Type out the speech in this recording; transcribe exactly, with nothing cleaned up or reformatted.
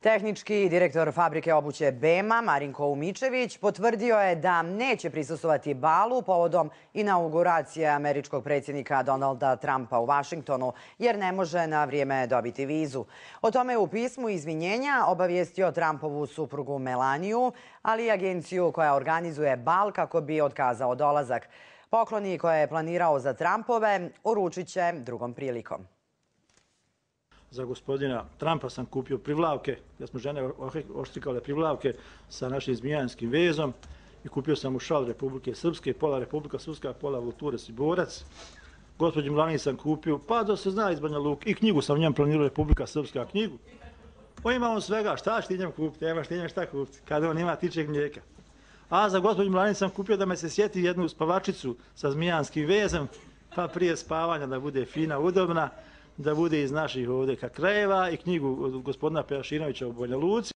Tehnički direktor fabrike obuće B E M A, Marinko Umičević, potvrdio je da neće prisustvovati balu povodom inauguracije američkog predsjednika Donalda Trumpa u Vašingtonu, jer ne može na vrijeme dobiti vizu. O tome je u pismu izvinjenja obavijestio Trumpovu suprugu Melaniju, ali i agenciju koja organizuje bal kako bi otkazao dolazak. Pokloni koje je planirao za Trumpove uručit će drugom prilikom. Za gospodina Trumpa sam kupio privlavke, jer smo žene oštrikale privlavke sa našim zmijanskim vezom i kupio sam mu šal Republike Srpske, pola Republika Srpska, pola Vultures i Borac. Gospođi Melani sam kupio, pa da se zna iz Banja Luke, i knjigu sam njem planirao, Republika Srpska knjigu. On ima on svega, šta ćeš ti njem kupiti, nemaš ti njem šta kupiti, kada on ima tičeg mlijeka. A za gospođu Melani sam kupio da me se sjeti jednu spavačicu sa zmijanskim vezom, pa prije spavanja da bude fina, udobna, da bude iz naših ovdje krajeva, i knjigu gospodina Pejašinovića u Banja Luci.